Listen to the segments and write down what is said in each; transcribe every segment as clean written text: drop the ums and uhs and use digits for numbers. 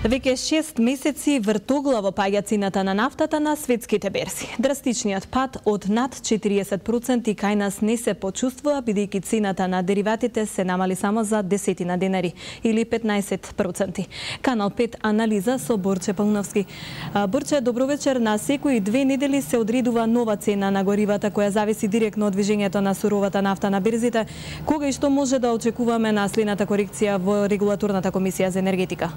Веќе 6 месеци вртоглаво паѓа цената на нафтата на светските берзи. Драстичниот пад од над 40% кај нас не се почувствува, бидејќи цената на дериватите се намали само за десетина денари или 15%. Канал 5 анализа со Борче Пауновски. Борче, добро вечер. На секои 2 недели се одредува нова цена на горивата која зависи директно од движењето на суровата нафта на берзите. Кога и што може да очекуваме на следната корекција во Регулаторната комисија за енергетика?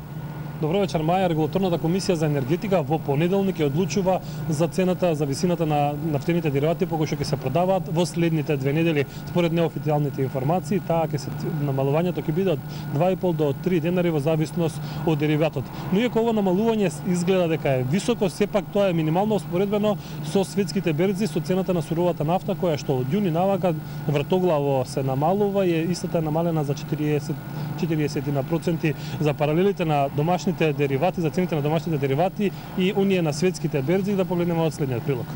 Добро вечер, Маја. Регулаторната комисија за енергетика во понеделник ја одлучува за цената, за висината на нафтените деривати по кои што ќе се продаваат во следните 2 недели. Според неофицијалните информации, таа ќе се намалувањето ќе биде од 2,5 до 3 денари во зависност од дериватот. Но иако ово намалување изгледа дека е високо, сепак тоа е минимално успоредбено со светските берзи, со цената на суровата нафта која што од јуни навака вртоглаво се намалува и истата е намалена за 40% за паралелите на домашните деривати, за цените на домашните деривати и унија на светските берзи. Да погледнеме од следниот прилог.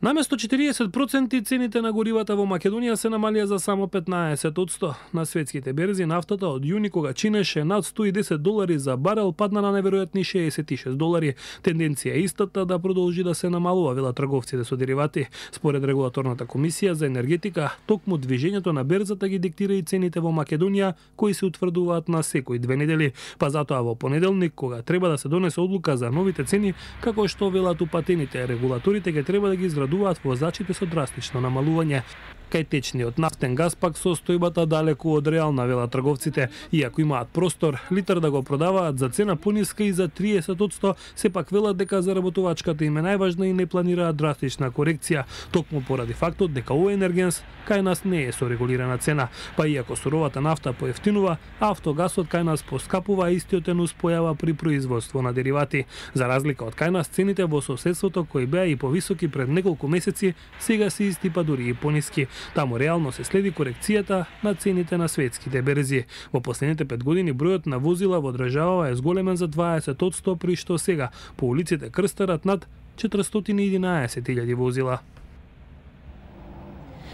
Наместо 40% цените на горивата во Македонија се намалија за само 15%. На светските берзи нафтата од јуни, кога чинеше над $110 за барел, падна на неверојатни $66. Тенденција е истата да продолжи да се намалува, велат трговците со деривати. Според Регулаторната комисија за енергетика, токму движењето на берзата ги диктира и цените во Македонија, кои се утврдуваат на секои 2 недели. Па затоа во понеделник, кога треба да се донесе одлука за новите цени, како што велат упатените регулаторите, ќе треба да ги израдуваат возачите со драстично намалување. Кај течниот нафтен газ пак состојбата далеку од реална, велат трговците. Иако имаат простор литар да го продаваат за цена пониска и за 30%, сепак велат дека заработувачката им е најважна и не планираат драстична корекција, токму поради фактот дека овој енергенс кај нас не е со регулирана цена. Па иако суровата нафта поевтинува, автогасот кај нас поскапува, а истиот е нуспојава при производство на деривати. За разлика од кај нас, цените во соседството кои беа и повисоки пред неколку месеци, сега се исти, па дури и пониски. Таму реално се следи корекцијата на цените на светските берзи. Во последните 5 години бројот на возила во државава е зголемен за 20%, при што сега по улиците крстарат над 411.000 возила.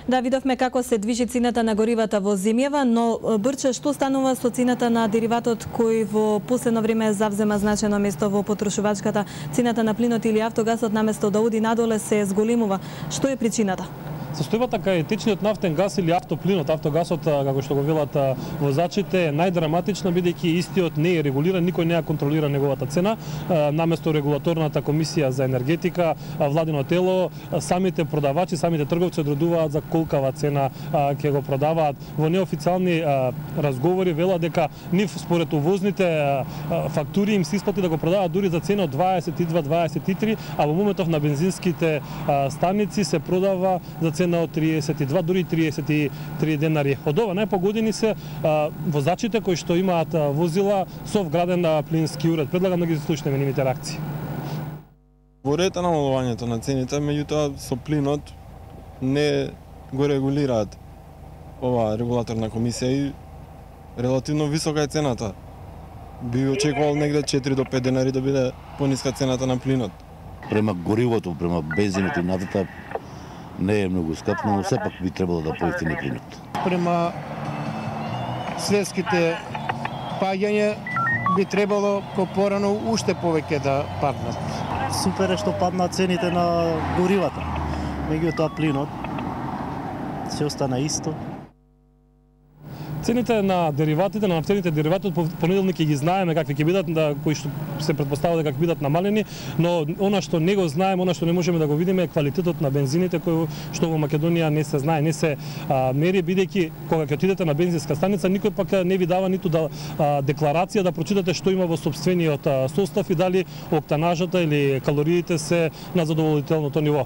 Да, видовме како се движи цената на горивата во земјава, но Борче, што станува со цената на дериватот кој во последно време завзема значено место во потрошувачката? Цената на плинот или автогасот наместо да оди надоле се зголемува. Што е причината? Состојбата кај течниот нафтен газ или автоплинот, автогасот, како што го велат возачите, е најдраматична, бидејќи истиот не е регулиран, никој не ја контролира неговата цена. Наместо Регулаторната комисија за енергетика, владино тело, самите продавачи, самите трговци одредуваат за колкава цена ќе го продаваат. Во неофицијални разговори велат дека нив според увозните фактури им се исплати да го продаваат дури за цена од 22-23, а во моментов на бензинските станици се продава за цена од 32, дури 33 денари. Од ова најпогодини се возачите кои што имаат возила со вграден плински уред. Предлагам да ги слушнеме нивните реакции. Во ред намалувањето на цените, меѓутоа со плинот не го регулираат ова регулаторна комисија и релативно висока е цената. Би очекувал негде 4 до 5 денари да биде пониска цената на плинот. Према горивото, према бензинот и нафтата не е многу скап, но сепак би требало да поевтини плинот. Према светските паѓање би требало порано уште повеќе да паднат. Супер е што паднат цените на горивата. Меѓутоа плинот се остана исто. Цените на дериватите, на нафтените деривати од понеделник ги знаеме какви ќе бидат, кои што се претпоставува дека ќе бидат намалени, но она што не го знаеме, она што не можеме да го видиме е квалитетот на бензините кој што во Македонија не се знае, не се мери, бидејќи кога ќе отидете на бензинска станица никој пак не ви дава ниту декларација да прочитате што има во сопствениот состав и дали октанажата или калориите се на задоволителното ниво.